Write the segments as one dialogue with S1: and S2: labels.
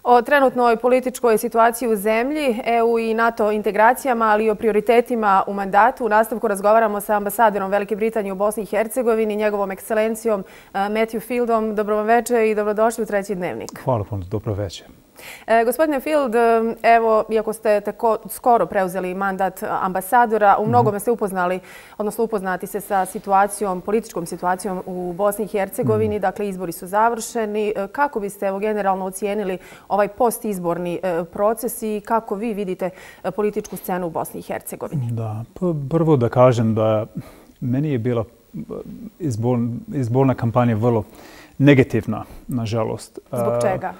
S1: O trenutnoj političkoj situaciji u zemlji, EU i NATO integracijama, ali i o prioritetima u mandatu. U nastavku razgovaramo sa ambasadorom Velike Britanije u Bosni i Hercegovini, njegovom ekscelencijom Matthew Fieldom. Dobro vam večer i dobrodošli u Treći dnevnik.
S2: Hvala puno, dobro večer.
S1: Gospodine Field, evo, iako ste tako skoro preuzeli mandat ambasadora, u mnogome ste upoznali, odnosno upoznati se sa situacijom, političkom situacijom u Bosni i Hercegovini. Dakle, izbori su završeni. Kako biste evo generalno ocijenili ovaj postizborni proces i kako vi vidite političku scenu u Bosni i Hercegovini?
S2: Da, prvo da kažem da meni je bila izborna kampanja vrlo negativna, nažalost.
S1: Zbog čega?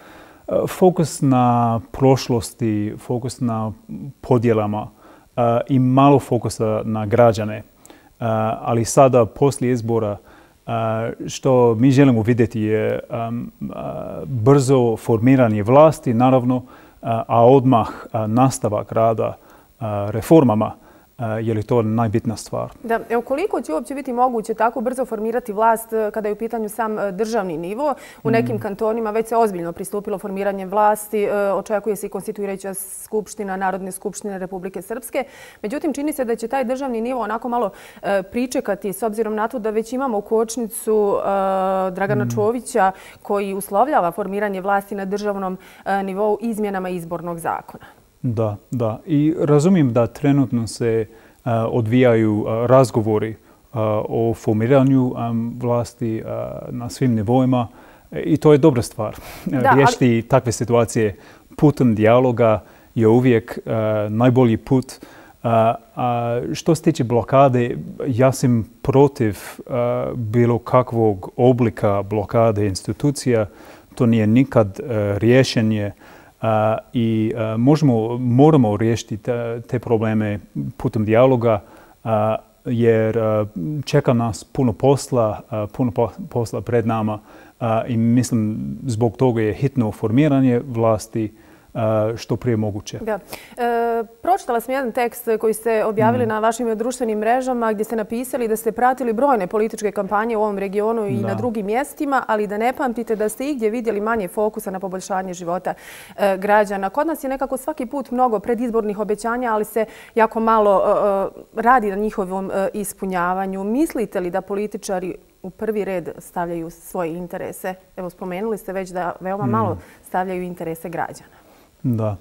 S2: Fokus na prošlosti, fokus na podjelama i malo fokusa na građane. Ali sada, poslije izbora, što mi želimo vidjeti je brzo formiranje vlasti, naravno, a odmah nastavak rada reformama. Je li to najbitna stvar?
S1: Da, evo koliko će uopće biti moguće tako brzo formirati vlast kada je u pitanju sam državni nivo? U nekim kantonima već se ozbiljno pristupilo formiranjem vlasti. Očekuje se i konstituirajuća skupština Narodne skupštine Republike Srpske. Međutim, čini se da će taj državni nivo onako malo pričekati s obzirom na to da već imamo kočnicu Dragana Čovića koji uslovljava formiranje vlasti na državnom nivou izmjenama izbornog zakona.
S2: Da, da. I razumijem da trenutno se odvijaju razgovori o formiranju vlasti na svim nivoima i to je dobra stvar. Riješiti takve situacije putem dijaloga je uvijek najbolji put. Što se tiče blokade, ja sam protiv bilo kakvog oblika blokade institucija. To nije nikad rješenje. I moramo riješiti te probleme putem dijaloga jer čeka nas puno posla pred nama i mislim zbog toga je hitno formiranje vlasti što prije moguće.
S1: Da. Pročitala sam jedan tekst koji ste objavili na vašim društvenim mrežama gdje ste napisali da ste pratili brojne političke kampanje u ovom regionu i na drugim mjestima, ali da ne pamtite da ste igdje vidjeli manje fokusa na poboljšanje života građana. Kod nas je nekako svaki put mnogo predizbornih obećanja, ali se jako malo radi na njihovom ispunjavanju. Mislite li da političari u prvi red stavljaju svoje interese? Evo, spomenuli ste već da veoma malo stavljaju interese građana.
S2: Da,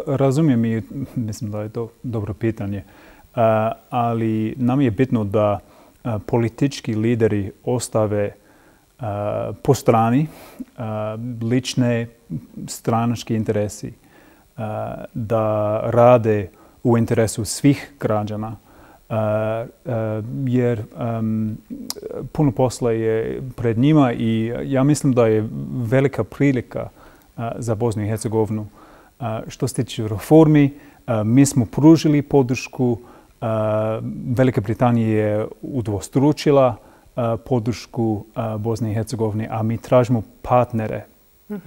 S2: razumijem i mislim da je to dobro pitanje. Ali nam je bitno da politički lideri ostave po strani lične stranački interesi, da rade u interesu svih građana, jer puno posla je pred njima i ja mislim da je velika prilika za Bosnu i Hercegovinu. Što se tiče reformi, mi smo pružili podršku. Velika Britanija je udvostručila podršku Bosni i Hercegovini, a mi tražimo partnere.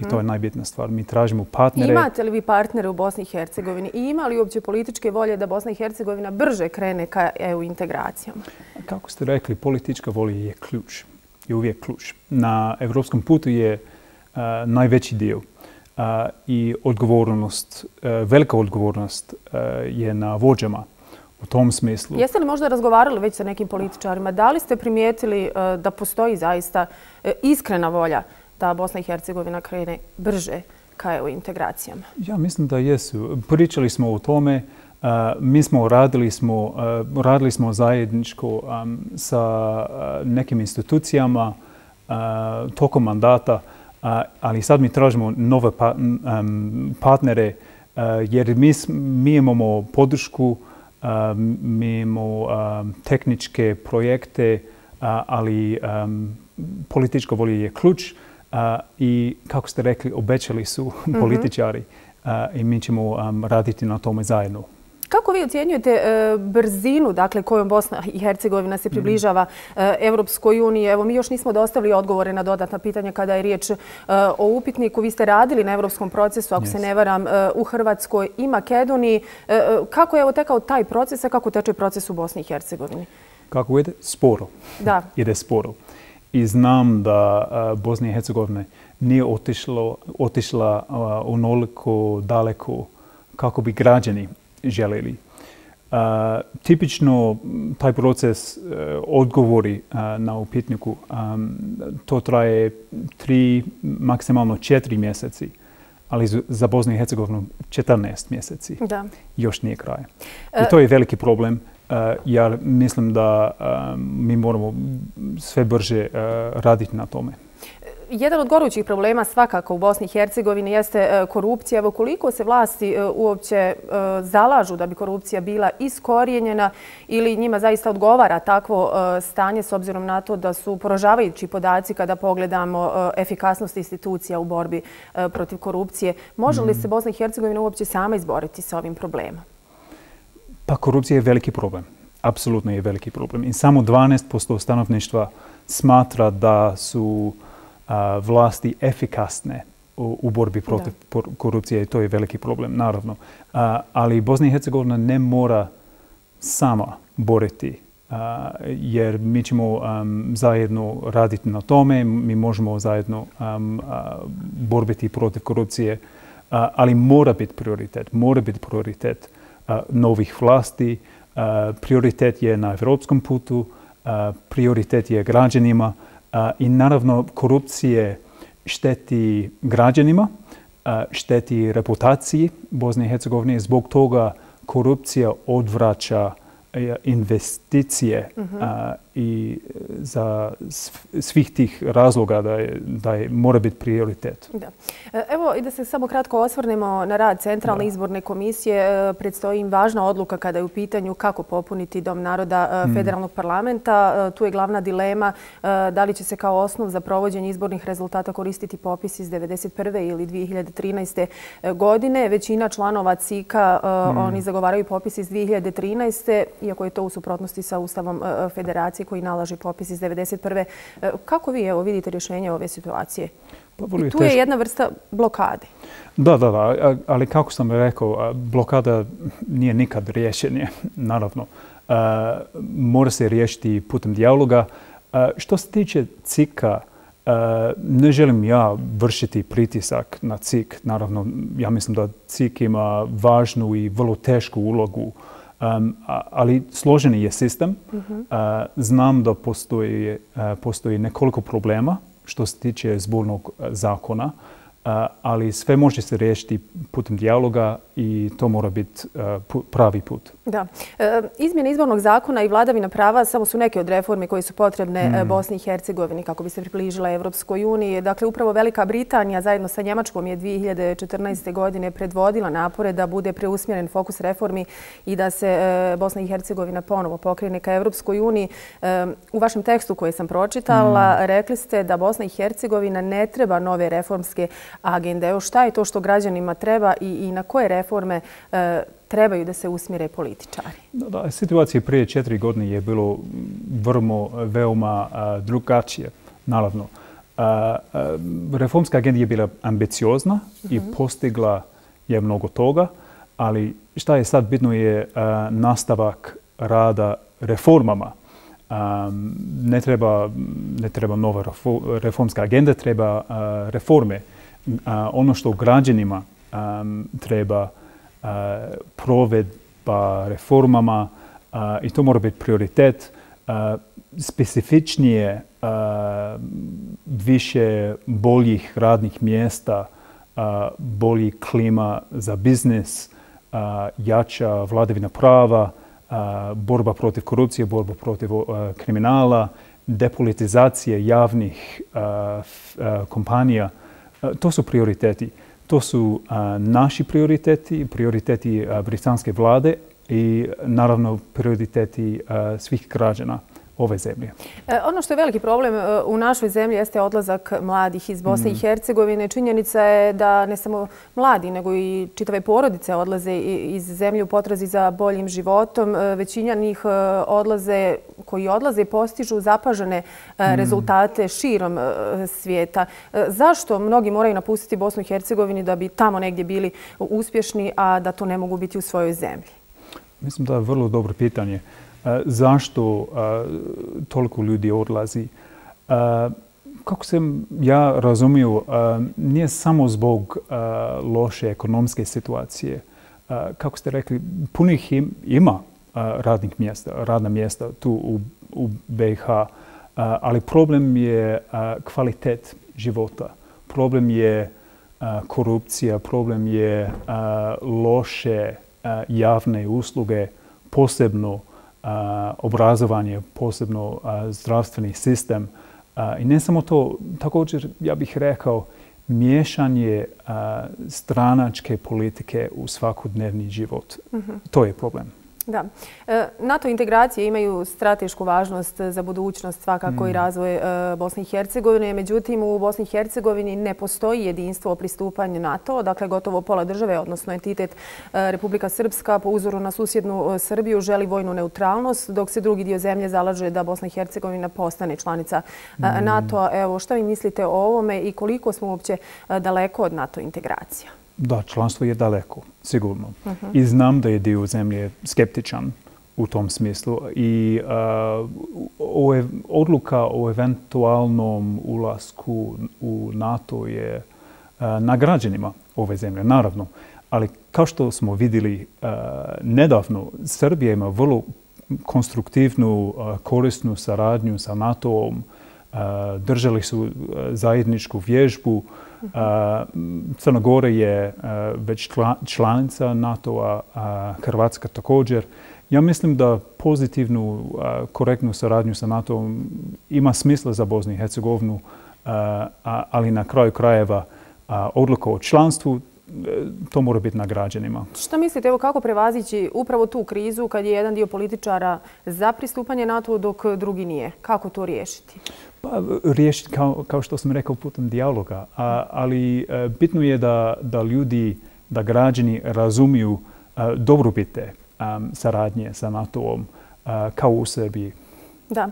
S2: I to je najbitna stvar. Mi tražimo partnere.
S1: Imate li vi partnere u Bosni i Hercegovini i ima li uopće političke volje da Bosna i Hercegovina brže krene ka EU integracijama?
S2: Kako ste rekli, politička volja je ključ. Je uvijek ključ. Na evropskom putu je najveći dio. I odgovornost, velika odgovornost je na vođama u tom smislu.
S1: Jeste li možda razgovarali već sa nekim političarima? Da li ste primijetili da postoji zaista iskrena volja da Bosna i Hercegovina krene brže ka EU integracijama?
S2: Ja mislim da jesu. Pričali smo o tome. Mi smo radili smo zajedničko sa nekim institucijama tokom mandata. Ali sad mi tražimo nove partnere jer mi imamo podršku, mi imamo tehničke projekte, ali politička volja je ključ i kako ste rekli, obećali su političari i mi ćemo raditi na tome zajedno.
S1: Kako vi ocjenjujete brzinu kojom Bosna i Hercegovina se približava Evropskoj uniji? Evo, mi još nismo dostavili odgovore na dodatna pitanja kada je riječ o upitniku. Vi ste radili na evropskom procesu, ako se ne varam, u Hrvatskoj i Makedoniji. Kako je tekao taj proces, a kako teče proces u Bosni i Hercegovini?
S2: Kako ide? Sporo.
S1: Da.
S2: Ide sporo. I znam da Bosna i Hercegovina nije otišla onoliko daleko kako bi građani željeli. Tipično taj proces odgovori na upitniku, to traje 3, maksimalno 4 mjeseci, ali za Bosnu i Hercegovinu 14 mjeseci.
S1: Da.
S2: Još nije kraj. I to je veliki problem. Ja mislim da mi moramo sve brže raditi na tome.
S1: Jedan od gorućih problema svakako u Bosni i Hercegovini jeste korupcija. Evo, koliko se vlasti uopće zalažu da bi korupcija bila iskorijenjena ili njima zaista odgovara takvo stanje s obzirom na to da su poražavajući podaci kada pogledamo efikasnost institucija u borbi protiv korupcije. Može li se Bosna i Hercegovina uopće sama izboriti sa ovim problemom?
S2: Pa korupcija je veliki problem. Apsolutno je veliki problem. I samo 12% stanovništva smatra da su vlasti efikasne u borbi protiv korupcije i to je veliki problem, naravno. Ali Bosna i Hercegovina ne mora sama boriti jer mi ćemo zajedno raditi na tome, mi možemo zajedno borbiti protiv korupcije, ali mora biti prioritet novih vlasti, prioritet je na europskom putu, prioritet je građanima i naravno korupcije šteti građanima, šteti reputaciji Bosne i Hercegovine. Zbog toga korupcija odvraća investicije i za svih tih razloga da je mora biti prioritet.
S1: Da. Evo i da se samo kratko osvrnemo na rad Centralne izborne komisije. Predstoji im važna odluka kada je u pitanju kako popuniti Dom naroda federalnog parlamenta. Tu je glavna dilema da li će se kao osnov za provođenje izbornih rezultata koristiti popis iz 1991. ili 2013. godine. Većina članova CIK-a oni zagovaraju popis iz 2013. iako je to u suprotnosti sa Ustavom Federacije koji nalaže popis iz 1991. Kako vi vidite rješenje ove situacije? I tu je jedna vrsta blokade.
S2: Da, ali kako sam rekao, blokada nije nikad rješenje, naravno. Mora se riješiti putem dijaloga. Što se tiče CIK-a, ne želim ja vršiti pritisak na CIK. Naravno, ja mislim da CIK ima važnu i vrlo tešku ulogu, ali složeni je sistem. Znam da postoji nekoliko problema što se tiče izbornog zakona, ali sve može se riješiti putem dijaloga i to mora biti pravi put.
S1: Da. Izmjene izbornog zakona i vladavina prava samo su neke od reformi koje su potrebne Bosni i Hercegovini kako bi se približila Evropskoj uniji. Dakle, upravo Velika Britanija zajedno sa Njemačkom je 2014. godine predvodila napore da bude preusmjeren fokus reformi i da se Bosna i Hercegovina ponovo pokrene ka Evropskoj uniji. U vašem tekstu koji sam pročitala rekli ste da Bosna i Hercegovina ne treba nove reformske agende. Evo, šta je to što građanima treba i na koje reforme trebaju da se usmjere političari?
S2: Situacija prije 4 godine je bilo veoma drugačije, naravno. Reformska agenda je bila ambiciozna i postigla je mnogo toga, ali šta je sad bitno je nastavak rada reformama. Ne treba nova reformska agenda, treba reforme. Ono što građanima treba provedba reformama i to mora biti prioritet. Specifičnije više boljih radnih mjesta, bolji klima za biznis, jača vladavina prava, borba protiv korupcije, borba protiv kriminala, depolitizacije javnih kompanija. To su prioriteti. To su naši prioriteti britanske vlade i naravno prioriteti svih građana ove zemlje.
S1: Ono što je veliki problem u našoj zemlji jeste odlazak mladih iz Bosne i Hercegovine. Činjenica je da ne samo mladi, nego i čitave porodice odlaze iz zemlje u potrazi za boljim životom. Većina njih koji odlaze postižu zapažene rezultate širom svijeta. Zašto mnogi moraju napustiti Bosnu i Hercegovinu da bi tamo negdje bili uspješni, a da to ne mogu biti u svojoj zemlji?
S2: Mislim da je vrlo dobro pitanje. Zašto toliko ljudi odlazi? kako sam ja razumio, nije samo zbog loše ekonomske situacije. Kako ste rekli, punih ima radna mjesta tu u BiH, ali problem je kvalitet života. Problem je korupcija, problem je loše javne usluge, posebno obrazovanje, posebno zdravstveni sistem. I ne samo to, također ja bih rekao miješanje stranačke politike u svakodnevni život. To je problem.
S1: Da. NATO integracije imaju stratešku važnost za budućnost svakako i razvoj Bosne i Hercegovine. Međutim, u Bosni i Hercegovini ne postoji jedinstvo o pristupanju NATO. Dakle, gotovo pola države, odnosno entitet Republika Srpska po uzoru na susjednu Srbiju želi vojnu neutralnost, dok se drugi dio zemlje zalaže da Bosna i Hercegovina postane članica NATO. Evo, šta vi mislite o ovome i koliko smo uopće daleko od NATO integracija?
S2: Da, članstvo je daleko, sigurno. I znam da je dio zemlje skeptičan u tom smislu. I odluka o eventualnom ulasku u NATO je na građanima ove zemlje, naravno. Ali kao što smo vidjeli nedavno, Srbija ima vrlo konstruktivnu, korisnu saradnju sa NATO-om. Držali su zajedničku vježbu. Crna Gora je već članica NATO-a, Hrvatska također. Ja mislim da pozitivnu, korektnu saradnju sa NATO-om ima smisla za Bosnu i Hercegovinu, ali na kraju krajeva odluka o članstvu to mora biti na građanima.
S1: Šta mislite, evo kako prevazići upravo tu krizu kad je jedan dio političara za pristupanje NATO dok drugi nije? Kako to riješiti?
S2: Pa, riješiti kao što sam rekao putem dijaloga, ali bitno je da ljudi, da građani razumiju dobrobite saradnje sa NATO-om kao u Srbiji.
S1: Da.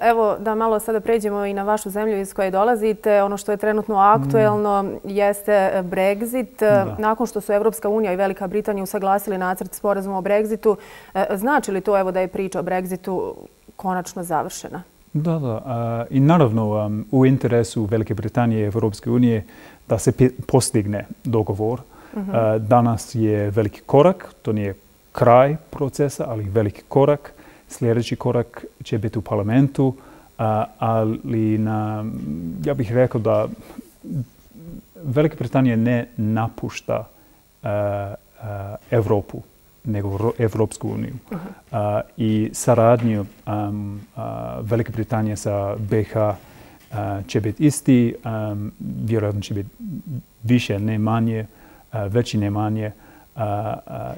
S1: Evo da malo sada pređemo i na vašu zemlju iz koje dolazite. Ono što je trenutno aktuelno jeste Brexit. Nakon što su Evropska unija i Velika Britanija usaglasili nacrt sporazuma o Brexitu, znači li to evo da je priča o Brexitu konačno završena?
S2: Da. I naravno u interesu Velike Britanije i Evropske unije da se postigne dogovor. Danas je veliki korak, to nije kraj procesa, ali veliki korak. Sljedeći korak će biti u parlamentu, ali ja bih rekao da Velika Britanija ne napušta Evropu, nego Evropsku uniju. I saradnju Velike Britanije sa BiH će biti isti, vjerojatno će biti više, ne manje, veći, ne manje.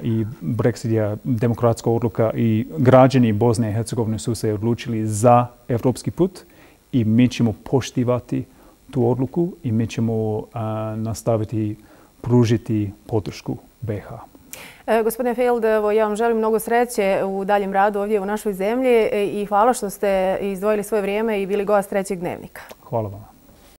S2: I Brexit je demokratska odluka i građani Bosne i Hercegovine su se odlučili za evropski put i mi ćemo poštivati tu odluku i mi ćemo nastaviti pružiti podršku BiH.
S1: Gospodine Feld, ja vam želim mnogo sreće u daljem radu ovdje u našoj zemlji i hvala što ste izdvojili svoje vrijeme i bili gost Trećeg dnevnika.
S2: Hvala vam.